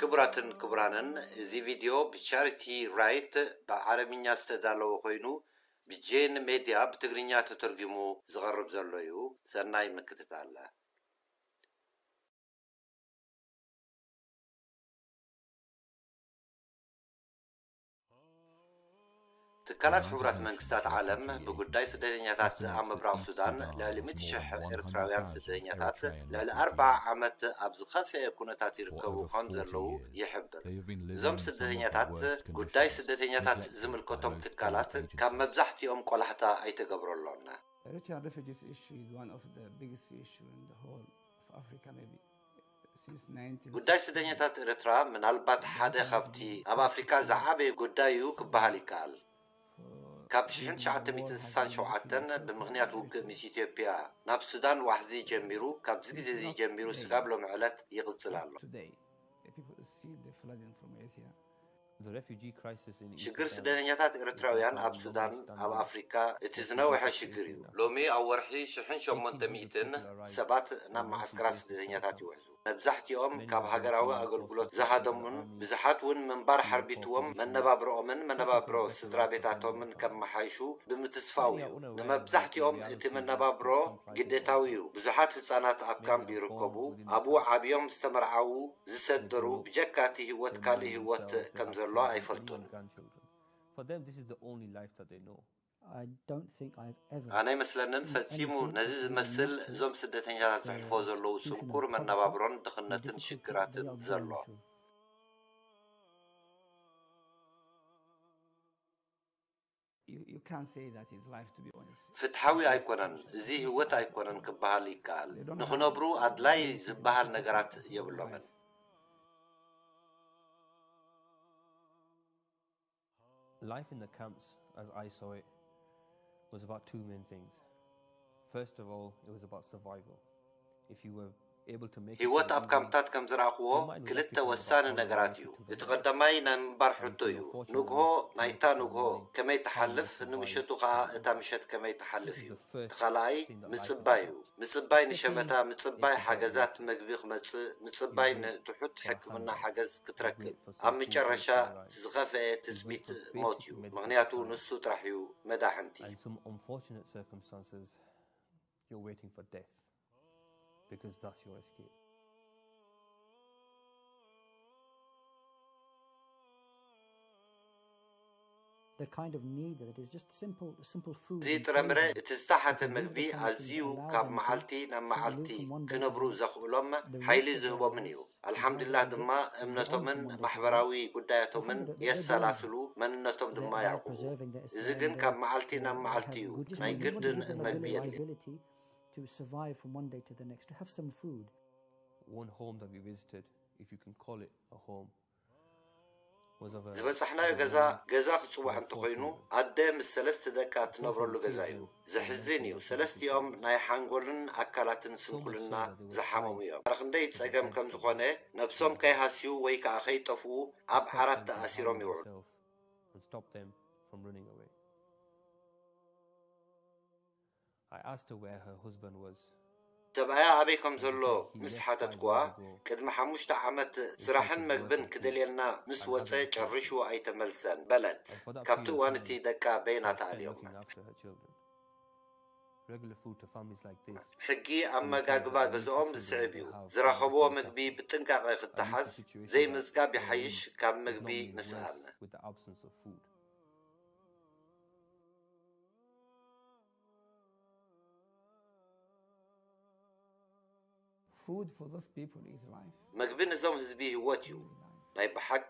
ክቡራትን ክቡራንን፣ እዚ ቪድዮ ብቻሪቲ ራይት ብዓረብኛ ዝተዳለወ ኮይኑ፣ ብጄን ሜድያ ብትግርኛ ተተርጒሙ ዝቐርብ ዘሎ እዩ። ሰናይ ምክትታል። ትካላት ሕቡራት መንግስታት ዓለም ብጉዳይ ስደተኛታት ኣብ ምብራቕ ሱዳን፣ ልዕሊ ሚእቲ ሽሕ ኤርትራውያን ስደተኛታት ልዕሊ ኣርብዓ ዓመት ኣብ ዝኸፍአ ኩነታት ይርከቡ ከም ዘለዉ ይሕብር። እዞም ስደተኛታት፣ ጉዳይ ስደተኛታት ዝምልከቶም ትካላት ካብ መብዛሕትኦም ቆላሕታ ኣይተገብረሎን። Eritrean refugees issue is one of the biggest issue in the whole of Africa, maybe. Since nineteen ጉዳይ ስደተኛታት ኤርትራ ምናልባት ሓደ ካብቲ ኣብ ኣፍሪካ ዝዓበየ ጉዳይ እዩ ክበሃል ይከኣል። ካብ ሽሕን ትሽዓተ ሚእትን ስሳን ሸውዓተን ብምኽንያት ውግእ ምስ ኢትዮጵያ ናብ ሱዳን ዋሕዚ ጀሚሩ፣ ካብዚ ግዜ እዚ ጀሚሩ ስጋብ ሎሚ ዕለት ይቕጽል ኣሎ። Today, the people see the flooding from Eritrea. The refugee crisis in ሽግር Ethiopia ስደተኛታት ኤርትራውያን ኣብ ሱዳን፣ ኣብ ኣፍሪካ እቲ ዝነውሐ ሽግር እዩ። ሎሚ ኣብ ወርሒ ሽሕን ሸሞንተ ሚእትን ሰባት ናብ መዓስከራት ስደተኛታት ይውሕዙ። መብዛሕትኦም ካብ ሃገራዊ ኣገልግሎት ዝሃደሙን ብዙሓት እውን ምንባር ሓርቢትዎም መነባብርኦምን መነባብሮ ስድራ ቤታቶምን ከመሓይሹ ብምትስፋው እዩ። ንመብዛሕትኦም እቲ መነባብሮ ግዴታዊ እዩ። ብዙሓት ህጻናት ኣብ ካምፕ ይርከቡ። ኣብኡ ዓብዮም ዝተመርዓዉ፣ ዝሰደሩ፣ ብጀካ እቲ ህይወት ካልእ ህይወት ከም ዘሎ ኣይፈልጡን። For them, this is the only life that they know. I don't think I've ever ኣነ ኣይመስለንን seen ፈጺሙ anything ነዚ like the ዝመስል Americans እዞም ስደተኛታት ዝሕልፎ ዘለዉ ስንኩር መነባብሮን ድኽነትን ሽግራትን ዘሎ። You, you can't say that is life, to be honest. ፍትሓዊ ኣይኮነን፣ እዚ ህይወት ኣይኮነን ክበሃል ይከኣል። They don't have ንኽነብሩ ኣድላይ ዝበሃል ነገራት የብሎምን። Life in the camps, as I saw it, was about two main things. First of all, it was about survival. If you were able to make it ህይወት to the ኣብ evening, ካምፕታት ከም ዝረኣኽዎ ክልተ ወሳኒ ነገራት እዩ። እቲ ቀዳማይ ናይ ምንባር ሕቶ እዩ። ንግሆ፣ ናይታ ንግሆ ከመይ ትሓልፍ፣ ንምሸቱ ከኣ እታ ምሸት ከመይ ትሓልፍ እዩ። እቲ ካልኣይ ምጽባይ እዩ። ምጽባይ ንሸመታ፣ ምጽባይ ሓገዛት መግቢ ክመጽእ፣ ምጽባይ ንትሑት ሕክምና ሓገዝ ክትረክብ። ኣብ መጨረሻ ዝኸፍአ ትጽቢት ሞት እዩ፣ ምኽንያቱ ንሱ ጥራሕ እዩ መዳሕንቲ። And some unfortunate circumstances, you're waiting for death because that's your escape. The kind of need that is just simple, simple food እዚ and ጥረምረ clothing እቲ ዝተሓተ that can መግቢ reach the person ኣዝዩ and allow ካብ them to መዓልቲ ናብ መዓልቲ survive from one day ክነብሩ to the next. ዘኽእሎም ሓይሊ ዝህቦምን እዩ። ኣልሓምዱሊላህ ድማ እምነቶምን ማሕበራዊ ጉዳያቶምን የሰላስሉ፣ መንነቶም ድማ ያዕቁቡ። እዚ ግን ካብ መዓልቲ ናብ መዓልቲ እዩ። ናይ ግድን መግቢ የድልዮም። To survive from one day to the next, to have some food. One home that we visited, if you can call it a home, ዝበጻሕናዮ ገዛ ገዛ ክጽዋዕ እንተኾይኑ፣ ኣደ ምስ ሰለስተ ደቃ እትነብረሉ ገዛ እዩ። ዘሕዝን እዩ። ሰለስቲኦም ናይ ሓንጎልን ኣካላትን ስንኩልና ዝሓመሙ እዮም። ክንደይ ጸገም ከም ዝኾነ፣ ነብሶም ከይሃስዩ ወይ ከኣ ከይጠፍኡ ኣብ ዓራት ተኣሲሮም ይውዕሉ። And stop them from running away. I asked her where her husband was. ሰብኣያ ኣበይ ከም ዘሎ ምስ ሓተትኩዋ፣ ቅድሚ ሓሙሽተ ዓመት ስራሕን መግብን ክደልየልና ምስ ወጸ ጨሪሹ ኣይተመልሰን በለት። ካብቲ እዋን እቲ ደቃ በይና ተኣልዮም። Regular food to families like this. ሕጊ ኣመጋግባ ገዝኦም ዝስዕብ እዩ። ዝረኸብዎ ምግቢ ብጥንቃቐ ክተሓዝ፣ ዘይምዝጋብ ይሓይሽ ካብ ምግቢ ምስኣን። With the absence of food. Food for those people is life. መግቢ ነዞም ህዝቢ ህይወት እዩ። ናይ ብሓቂ